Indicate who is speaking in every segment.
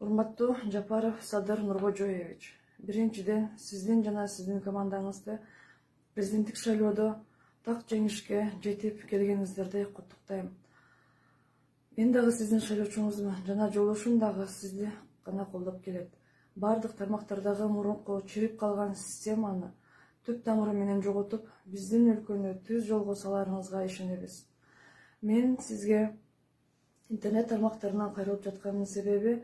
Speaker 1: Урматтуу Жапаров Садыр Нуркожоевич, биринчиден сиздин жана сиздин командаңызды президенттик шайлоодо так жеңишке жетип келгениңиздерди куттуктайм. Мен дагы сиздин шайлоочуңузмун жана жолдошум дагы сизди гана колдоп келет. Бардык тармактардагы мурунку чирип калган системаны түп тамыры менен жоготуп, биздин өлкөнү түз жолго саларыңызга ишенебиз. Мен сизге интернет тармактарынан кайрылып жатканын себеби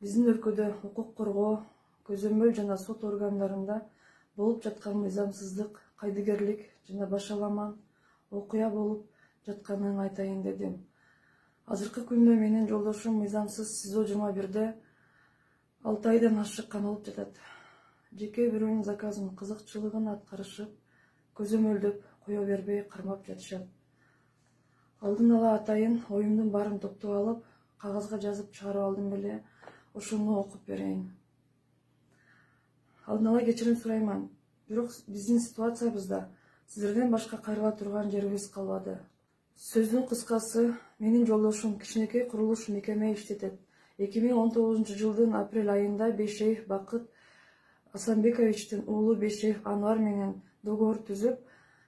Speaker 1: биздин өлкөдө укук коргоо, көзөмөл жана сот органдарында болуп жаткан мыйзамсыздык, кайдыгерлик жана башаламан окуя болуп жатканын айтайын дедим. Азыркы күндө менин жолдошум мыйзамсыз СИЗО 21-де 6 айдан ашык камалып жатат. Жеке бирөөнүн заказын кызыкчылыгын аткарышып, көзөмөлдөп кое бербей кармап жатышат. Алдын ала атайын оюмдун баарын топтоп алып, кагазга жазып чыгарып алдым беле, ошону окуп берейин. Алдын ала кечирим сурайман. Бирок биздин ситуациябызда сиздерден башка кайрыла турган жерибиз калбады. Сөздүн кыскасы, менин жолдошум кичинекей курулуш мекеме иштетет. 2019 жылдын апрель айында Бейшеев Бакыт Асанбековичтин уулу Бейшеев Анвар менен договор түзүп,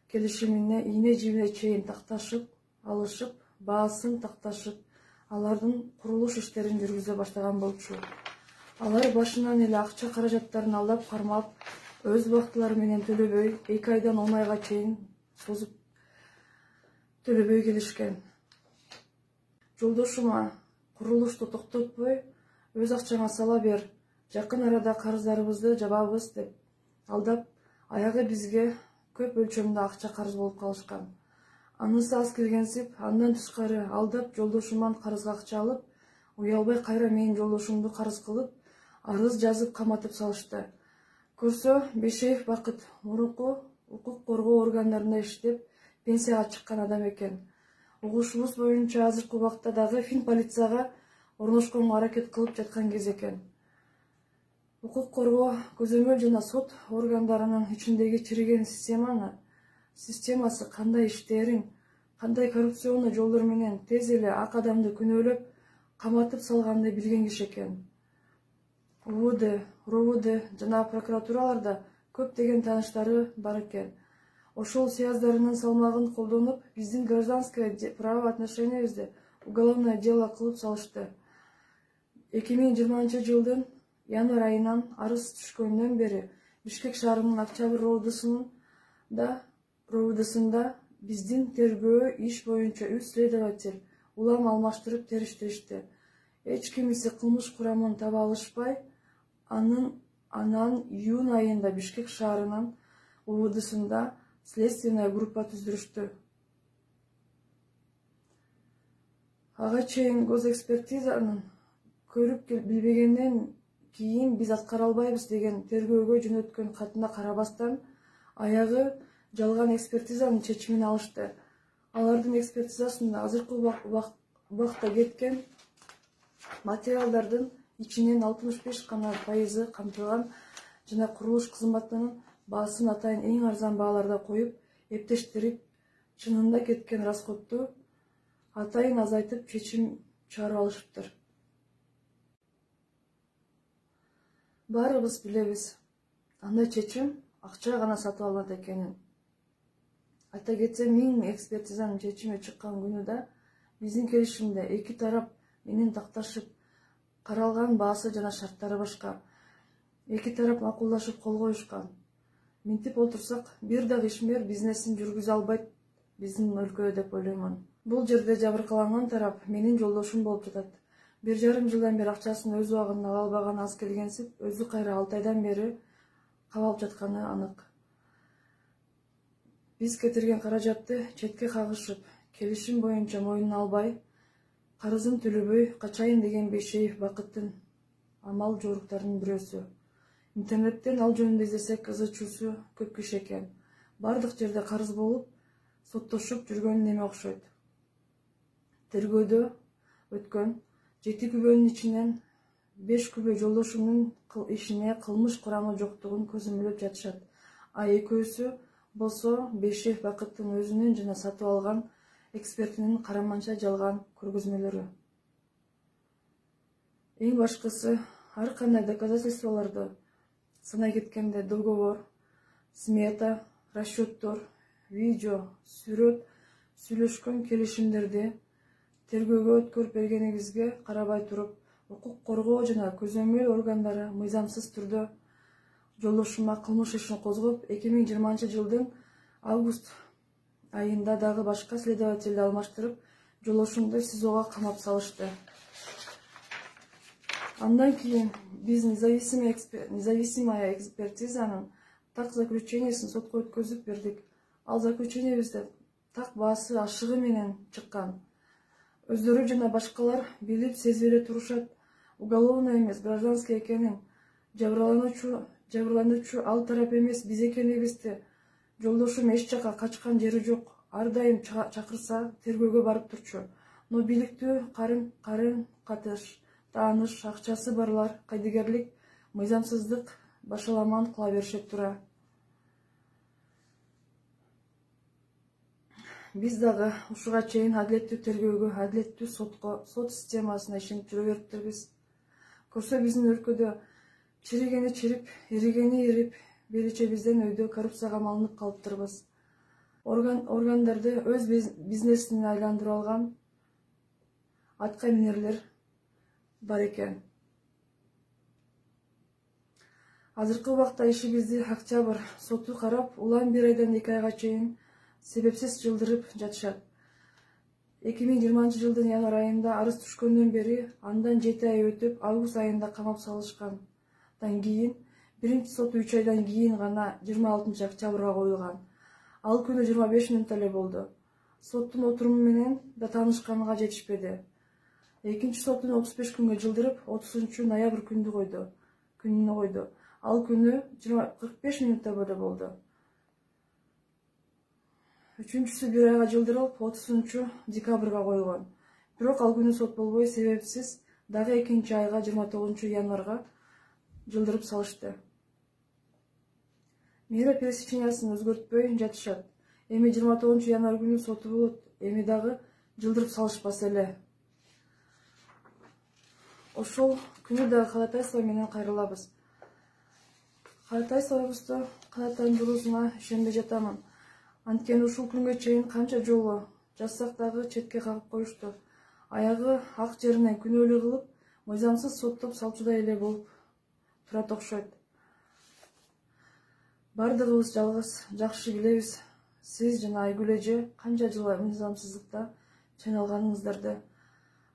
Speaker 1: келишимине ийне жибине чейин такташып, алышып, баасын такташып, алардын курулуш иштерин жүргүзө баштаган болчу. Алар башынан эле акча каражаттарын алдап кармап, өз убактылары менен төлөбөй, 2 айдан 10 айга чейин созуп төлөбөй келишкен. Жолдошума курулушту токтотпой, өз акчаңа сала бер, жакын арада карыздарыбызды жабабыз деп алдап, аягы бизге көп өлчөмдө акча карыз болуп калышкан. Анысы аз келгенсип, андан тышкары алдап жолдошуман карызга акча алып, уялбай кайра менин жолдошумду карыз кылып, арыз жазып каматып салышты. Көрсө, Бейшеев Бакыт мурунку укук коргоо органдарында иштеп, пенсияга чыккан адам экен. Угушубуз боюнча азыркы убакта дагы фин полицияга орношконго аракет кылып жаткан кез экен. Укук коргоо, көзөмөл жана сот органдарынын ичиндеги чириген системасы кандай иштерин, кандай коррупционный жолдор менен тез эле ак адамды күнөөлөп, каматып салганды билген киши экен. УВД, РОВД жана прокуратураларда көптөгөн тааныштары бар экен. Ошол сияздарынын салмагын колдонуп, биздин гражданское правоотношениябизди уголовное дело кылып салышты. 2020 жылдын январь айынан арыз түшкөндөн бери Бишкек шаарынын Октябрь РОВДсында биздин тергөө иш боюнча 3 следователь улам алмаштырып териштиришти. Эч кимиси кылмыш курамын таба алышпай, анан июнь айында Бишкек шаарынын УВДсында следственная группа түздүрүштү. Ага чейин госэкспертизанын көрүп билбегенден кийин биз аткара албайбыз деген тергөөгө жөнөткөн катына карабастан, аягы жалган экспертизанын чечимин алышты. Алардын экспертизасында азыркы убакта кеткен материалдардын ичинен 65% камтылган жана курулуш кызматынын баасын атайын эң арзан бааларда коюп, эптештирип, чынында кеткен расходду атайын азайтып чечим чыгарып алышыптыр. Баарыбыз билебиз, андай чечим акча гана сатып алынат экенин. Айта кетсем, 1000 экспертизанын чечими чыккан күнү да биздин келишимде эки тарап менен такташып, каралган баасы жана шарттары башка. Эки тарап макулдашып кол коюшкан. Минтип отурсак, бир дагы ишмер бизнесин жүргүзө албайт биздин өлкөдө деп ойлоймун. Бул жерде жабыркаланган тарап менин жолдошум болуп жатат. 1,5 жылдан бери акчасын өз убагында ала албаган аз келгенсип, өзү кайра 6 айдан бери кабалып жатканы анык. Биз кетирген каражатты четке кагышып, келишим боюнча мойнуна албай, карызын төлөбөй качайын деген Бейшеев Бакыттын амал жоруктарынын бирөөсү. Интернеттен ал жөнүндө издесек, ызы-чуусу көп киши экен. Бардык жерде карыз болуп, соттошуп жүргөн неме окшойт. Тергөөдө өткөн 7 күбөнүн ичинен 5 күбө жолдошумдун ишине кылмыш курамы жоктугун көзөмөлдөп жатышат. А экөөсү болсо Бейшеев Бакыттын өзүнүн жана сатып алган экспертинин караманча жалган көргөзмөлөрү. Эң башкысы, ар кандай доказательстволорду санай кеткенде договор, смета, расчеттор, видео, сүрөт, сүйлөшкөн келишимдерди тергөөгө өткөрүп бергенибизге карабай туруп, укук коргоо жана көзөмөл органдары мыйзамсыз түрдө жолдошума кылмыш ишин козгоп, 2020 жылдын август айында дагы башка следовательди алмаштырып, жолдошумду СИЗОго камап салышты. Андан кийин биз независимая экспертизанын так заключениесин сотко өткөзүп бердик. Ал заключениебизде так баасы ашыгы менен чыккан. Өздөрү жана башкалар билип, сезип эле турушат, уголовный эмес, гражданский экенин, жабырлануучу ал тарап эмес, биз экенибизди, жолдошум эч жака качкан жери жок, ар дайым чакырса тергөөгө барып турчу. Но биликтүү катын-катыш, тааныш, акчасы барлар кайдыгерлик, мыйзамсыздык башаламан кыла беришет тура. Биз дагы ушуга чейин адилеттүү тергөөгө, адилеттүү сотко, сот системасына ишенип жүрө бериптербиз. Көрсө биздин өлкөдө чиригени чирип, эригени эрип, беречебизден өйдө коррупцияга малынып калыптырбыз. Органдарды өз бизнесине айландырып алган атка минерлер бар экен. Азыркы убакта ишибизди октябрь соту карап, улам 1 айдан 2 айга чейин себепсиз жылдырып жатышат. 2020 жылдын январь айында арыз түшкөндөн бери, андан 7 ай өтүп, август айында камап салышкандан кийин, биринчи сот 3 айдан кийин гана 26 октябрга коюлган. Ал күнү 25 мүнөт эле болду. Соттун отуруму менен да таанышканга жетишпеди. Экинчи соттун 35 күнгө жылдырып, 30 ноябрь күнүнө койду. Ал күнү 45 мүнөттө эле болду. Үчүнчүсү 1 айга жылдырылып, 30 декабрга коюлган. Бирок ал күнү сот болбой, себепсиз дагы 2 айга 29 январга жылдырып салышты. Мера пресечениясын өзгөртпөй жатышат. Эми 29 январь күнү соту болот, эми дагы жылдырып салышпаса эле. Ошол күнү дагы ходатайство менен кайрылабыз. Ходатайствобузду канааттандыруусуна ишенбей жатамын. Анткени ушул күнгө чейин канча жолу жазсак дагы четке кагып коюшту. Аягы ак жеринен күнөөлүү кылып, мыйзамсыз соттоп салчудай эле болуп турат окшойт. Бардыгыбыз жалгыз жакшы билебиз, сиз жана Айгүл эже канча жыл мыйзамсыздыкта чайналганыңыздарды.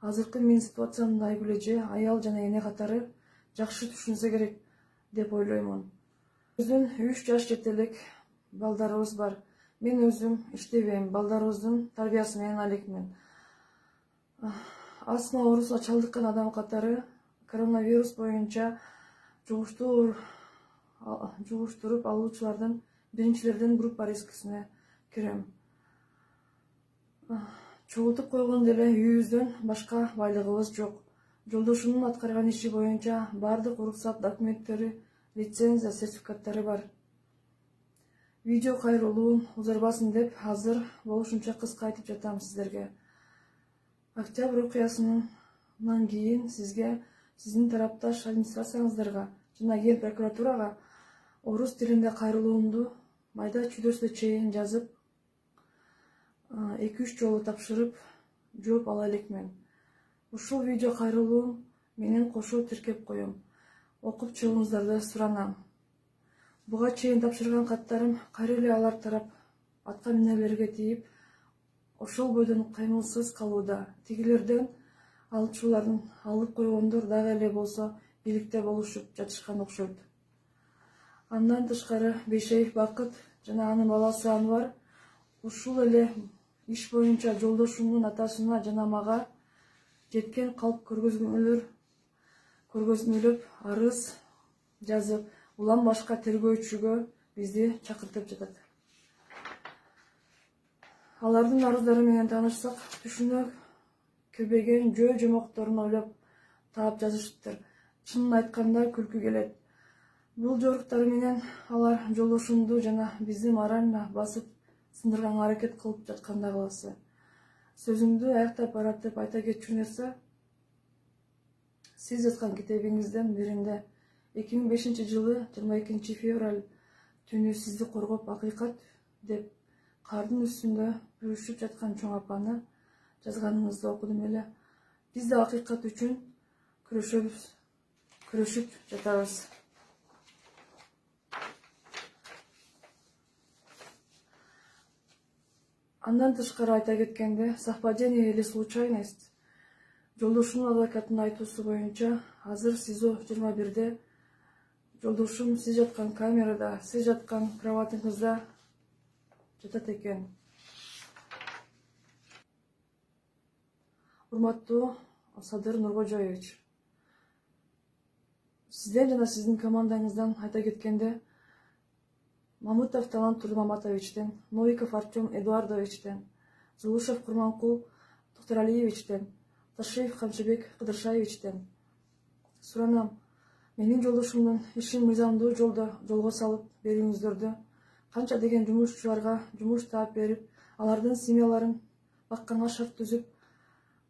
Speaker 1: Азыркы мен ситуациямды Айгүл эже, аял жана эне катары жакшы түшүнсө керек деп ойлоймун. Биздин 3 жаш жетелик балдарыбыз бар. Мен өзүм иштебейм, балдарыбыздын тарбиясы менен алекмин. Астма оорусуна чалдыккан адам катары коронавирус боюнча жугуштуруп алуучулардын биринчилердин группа рискисине кирем. Чогултуп койгондо эле үйүбүздөн башка байлыгыбыз жок. Жолдошумдун аткарган иши боюнча бардык уруксат документтери, лицензия, сертификаттары бар. Видео кайрылуум узарбасын деп азыр болушунча кыска айтып жатам сиздерге. Октябрь окуясынан кийин сизге, сиздин тарапташ администрацияңыздарга жана Ген прокуратурага орус тилинде кайрылуумду майда чүйдөсүнө чейин жазып, 2-3 жолу тапшырып жооп ала элекмин. Ушул видео кайрылуум менен кошо тиркеп коем. Окуп чыгууңуздарды суранам. Буга чейин тапшырган каттарым кайра эле алар тарап атка минерлерге тийип, ошол бойдон кыймылсыз калууда. Тигилерден алчулардын алып койгондор дагы эле болсо бийликте болушуп жатышкан окшойт. Андан тышкары Бейшеев Бакыт жана анын баласы Анвар ушул эле иш боюнча жолдошумдун атасына жана мага жеткен калп көргөзмөлөп арыз жазып, улам башка тергөөчүгө бизди чакыртып жатат. Алардын арыздары менен таанышсак, түшүнө кирбеген жөө-жомокторун ойлоп таап жазышыптыр. Чынын айтканда күлкү келет. Бул жоруктары менен алар жолдошумду жана бизди морально басып сындырганга аракет кылып жаткандай кыласы. Сөзүмдү аяктап барат деп айта кетчү нерсе, Сиз жазган китебиңиздин биринде 2005-жылы 22 февраль түнү сизди коргоп акыйкат деп кардын үстүндө бүрүшүп жаткан чоң апаны жазганыңызды окудум эле. Биз да акыйкат үчүн күрөшүп жатабыз. Андан тышкары айта кеткенде, совпадение или случайность? Жолдошумдун адвокатынын айтуусу боюнча, азыр СИЗО 21-де жолдошум сиз жаткан камерада, сиз жаткан кроватыңызда жатат экен. Урматтуу Садыр Нуркожоевич, сизден жана сиздин командаңыздан айта кеткенде, Мамытов Талант Турмаматовичтен, Новиков Артем Эдуардовичтен, Зулушев Курманкул Тохторалиевичтен, Ташиев Камчыбек Кыдыршаевичтен суранам. Менин жолдошумдун ишин мыйзамдуу жолго салып берүүңүздөрдү, канча деген жумушчуларга жумуш таап берип, алардын семьяларын бакканга шарт түзүп,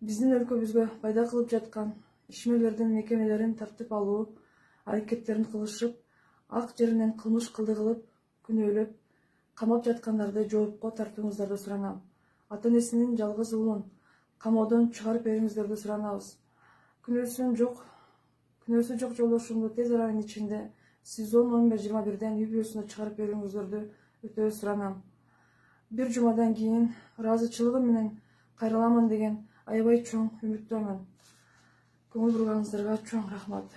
Speaker 1: биздин өлкөбүзгө пайда кылып жаткан ишмерлердин мекемелерин тартып алуу аракеттерин кылышып, ак жеринен кылмыш кылды кылып, күнөөлөп, камап жаткандарды жоопко тартууңуздарды суранам. Ата-энесинин жалгыз уулун камоодон чыгарып берүүңүздөрдү суранабыз. Күнөөсү жок жолдошумду тез аранын ичинде СИЗО номер 21-ден үй бүлөсүнө чыгарып берүүңүздөрдү өтө суранам. Бир жумадан кийин ыраазычылыгым менен кайрыламын деген аябай чоң үмүттөмүн. Көңүл бурганыңыздарга чоң рахмат.